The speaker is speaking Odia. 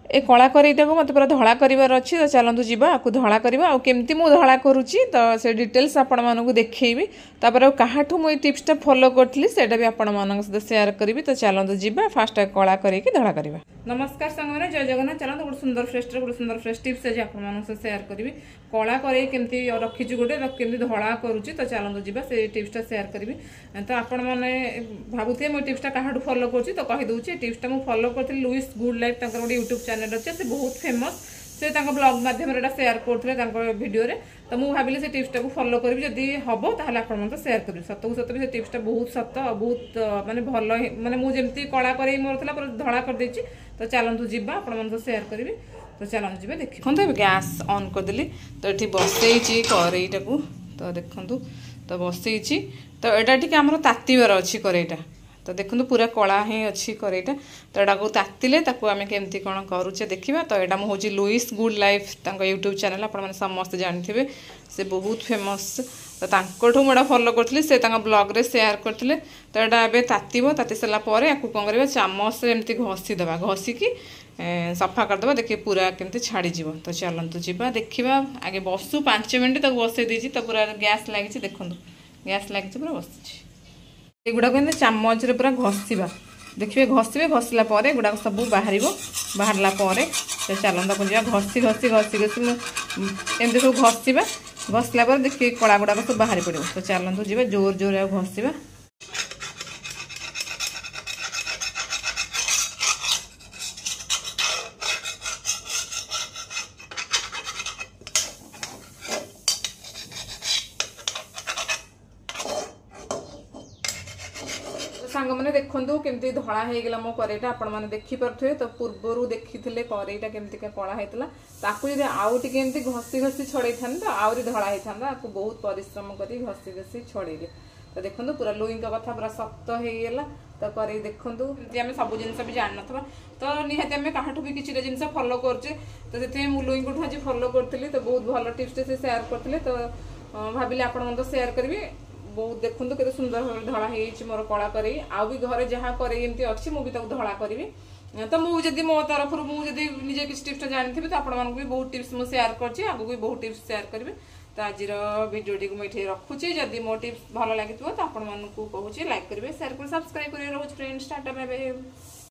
ଏ କଳା କରେଇଟାକୁ ମୋତେ ପୁରା ଧଳା କରିବାର ଅଛି। ତ ଚାଲନ୍ତୁ ଯିବା, ଆକୁ ଧଳା କରିବା। ଆଉ କେମିତି ମୁଁ ଧଳା କରୁଛି ତ ସେ ଡିଟେଲ୍ସ ଆପଣମାନଙ୍କୁ ଦେଖେଇବି। ତାପରେ ଆଉ କାହାଠୁ ମୁଁ ଏଇ ଟିପ୍ସଟା ଫଲୋ କରିଥିଲି ସେଇଟା ବି ଆପଣମାନଙ୍କ ସହିତ ସେୟାର କରିବି। ତ ଚାଲନ୍ତୁ ଯିବା, ଫାଷ୍ଟ କଳା କରେଇକି ଧଳା କରିବା। ନମସ୍କାର ସାଙ୍ଗମାନେ, ଜୟ ଜଗନ୍ନାଥ। ଚାଲନ୍ତୁ ଗୋଟେ ସୁନ୍ଦର ଫ୍ରେଶର ଗୋଟେ ସୁନ୍ଦର ଫ୍ରେଶ ଟିପ୍ସ ଆଜି ଆପଣମାନଙ୍କ ସହିତ ସେୟାର କରିବି। କଳା କରେଇ କେମିତି ରଖିଛୁ ଗୋଟେ, ତାକୁ କେମିତି ଧଳା କରୁଛି, ତ ଚାଲନ୍ତୁ ଯିବା, ସେ ଟିପ୍ସଟା ସେୟାର କରିବି। ତ ଆପଣମାନେ ଭାବୁଥିବେ ମୁଁ ଟିପ୍ସଟା କାହାଠୁ ଫଲୋ କରୁଛି, ତ କହିଦେଉଛି। ଏ ଟିପ୍ସଟା ମୁଁ ଫଲୋ କରିଥିଲି ଲୁଇସ୍ ଗୁଡ୍ ଲାଇଫ୍, ତାଙ୍କର ଗୋଟେ ୟୁଟ୍ୟୁବ୍ ଚ୍ୟାନେଲ୍ ଅଛି, ସେ ବହୁତ ଫେମସ୍। ସେ ତାଙ୍କ ବ୍ଲଗ୍ ମାଧ୍ୟମରେ ଏଇଟା ସେୟାର କରୁଥିଲେ ତାଙ୍କ ଭିଡ଼ିଓରେ। ତ ମୁଁ ଭାବିଲି ସେ ଟିପ୍ସଟାକୁ ଫଲୋ କରିବି, ଯଦି ହେବ ତାହେଲେ ଆପଣମାନଙ୍କୁ ସେୟାର କରିବି। ସତକୁ ସତ ବି ସେ ଟିପ୍ସଟା ବହୁତ ସତ, ବହୁତ ମାନେ ଭଲ, ମାନେ ମୁଁ ଯେମିତି କଳା କରେଇ ମୋର ଥିଲା ପୁରା ଧଳା କରିଦେଇଛି। ତ ଚାଲନ୍ତୁ ଯିବା, ଆପଣମାନଙ୍କୁ ସେୟାର କରିବି। ତ ଚାଲନ୍ତୁ ଯିବା ଦେଖି। ଦେଖନ୍ତୁ, ଏବେ ଗ୍ୟାସ୍ ଅନ୍ କରିଦେଲି, ତ ଏଠି ବସେଇଛି କରେଇଟାକୁ। ତ ଦେଖନ୍ତୁ, ତ ବସେଇଛି, ତ ଏଇଟା ଟିକେ ଆମର ତାତିବାର ଅଛି କରେଇଟା। ତ ଦେଖନ୍ତୁ, ପୁରା କଳା ହିଁ ଅଛି କରେଇଟା। ତ ଏଟାକୁ ତାତିଲେ ତାକୁ ଆମେ କେମିତି କ'ଣ କରୁଛେ ଦେଖିବା। ତ ଏଇଟା ମୁଁ ହେଉଛି ଲୁଇସ୍ ଗୁଡ୍ ଲାଇଫ୍, ତାଙ୍କ ୟୁଟ୍ୟୁବ୍ ଚ୍ୟାନେଲ୍ ଆପଣମାନେ ସମସ୍ତେ ଜାଣିଥିବେ, ସେ ବହୁତ ଫେମସ୍। ତ ତାଙ୍କଠୁ ମୁଁ ଏଇଟା ଫଲୋ କରିଥିଲି, ସେ ତାଙ୍କ ବ୍ଲଗ୍ରେ ସେୟାର କରିଥିଲେ। ତ ଏଇଟା ଏବେ ତାତିବ, ତାତି ସାରିଲା ପରେ ଆକୁ କ'ଣ କରିବା? ଚାମଚରେ ଏମିତି ଘଷିଦେବା, ଘଷିକି ସଫା କରିଦେବା, ଦେଖିବେ ପୁରା କେମିତି ଛାଡ଼ିଯିବ। ତ ଚାଲନ୍ତୁ ଯିବା ଦେଖିବା। ଆଗେ ବସୁ 5 ମିନିଟ୍, ତାକୁ ବସେଇ ଦେଇଛି। ତ ପୁରା ଗ୍ୟାସ୍ ଲାଗିଛି, ଦେଖନ୍ତୁ ଗ୍ୟାସ୍ ଲାଗିଛି, ପୁରା ବସିଛି। ଏଗୁଡ଼ାକୁ ଏମିତି ଚାମଚରେ ପୁରା ଘଷିବା, ଦେଖିବେ ଘଷିବେ, ଘଷିଲା ପରେ ଏଗୁଡ଼ାକ ସବୁ ବାହାରିବ। ବାହାରିଲା ପରେ ତ ଚାଲନ୍ତୁ ତାକୁ ଯିବା, ଘଷି ଘଷି ଘଷି ଘଷି ମୁଁ ଏମିତି ସବୁ ଘଷିବା। ଘଷିଲା ପରେ ଦେଖିବେ କଳା ଗୁଡ଼ାକ ସବୁ ବାହାରି ପଡ଼ିବ। ତ ଚାଲନ୍ତୁ ଯିବା, ଜୋର ଜୋରେ ଆଉ ଘଷିବା। ସାଙ୍ଗମାନେ ଦେଖନ୍ତୁ କେମିତି ଧଳା ହେଇଗଲା ମୋ କରେଇଟା, ଆପଣମାନେ ଦେଖିପାରୁଥିବେ। ତ ପୂର୍ବରୁ ଦେଖିଥିଲେ କରେଇଟା କେମିତିକା କଳା ହେଇଥିଲା। ତାକୁ ଯଦି ଆଉ ଟିକେ ଏମିତି ଘଷି ଘଷି ଛଡ଼େଇଥାନ୍ତେ ତ ଆହୁରି ଧଳା ହେଇଥାନ୍ତା। ଆକୁ ବହୁତ ପରିଶ୍ରମ କରି ଘଷି ଘଷି ଛଡ଼େଇଲେ। ତ ଦେଖନ୍ତୁ, ପୁରା ଲୁଇଙ୍କ କଥା ପୁରା ଶକ୍ତ ହେଇଗଲା। ତ କରେଇ ଦେଖନ୍ତୁ, ଏମିତି ଆମେ ସବୁ ଜିନିଷ ବି ଜାଣିନଥିବା, ତ ନିହାତି ଆମେ କାହାଠୁ ବି କିଛିଟା ଜିନିଷ ଫଲୋ କରୁଛେ। ତ ସେଥିପାଇଁ ମୁଁ ଲୁଇଙ୍କଠୁ ଆଜି ଫଲୋ କରିଥିଲି। ତ ବହୁତ ଭଲ ଟିପ୍ସଟେ ସେ ସେୟାର କରିଥିଲେ, ତ ଭାବିଲି ଆପଣମାନଙ୍କୁ ସେୟାର କରିବି। ବହୁତ ଦେଖନ୍ତୁ କେତେ ସୁନ୍ଦର ଭାବରେ ଧଳା ହେଇଯାଇଛି ମୋର କଳା କରେଇ। ଆଉ ବି ଘରେ ଯାହା କରେଇ ଏମିତି ଅଛି, ମୁଁ ବି ତାକୁ ଧଳା କରିବି। ତ ମୁଁ ଯଦି ମୋ ତରଫରୁ ମୁଁ ଯଦି ନିଜେ କିଛି ଟିପ୍ସଟା ଜାଣିଥିବି, ତ ଆପଣମାନଙ୍କୁ ବି ବହୁତ ଟିପ୍ସ ମୁଁ ସେୟାର କରିଛି, ଆଗକୁ ବି ବହୁତ ଟିପ୍ସ ସେୟାର କରିବି। ତ ଆଜିର ଭିଡ଼ିଓଟିକୁ ମୁଁ ଏଠି ରଖୁଛି। ଯଦି ମୋ ଟିପ୍ସ ଭଲ ଲାଗିଥିବ ତ ଆପଣମାନଙ୍କୁ କହୁଛି ଲାଇକ୍ କରିବେ, ସେୟାର କରିବେ, ସବସ୍କ୍ରାଇବ୍ କରିବେ। ରହୁଛି ଫ୍ରେଣ୍ଡସ୍, ଟାଟା, ବାଏ।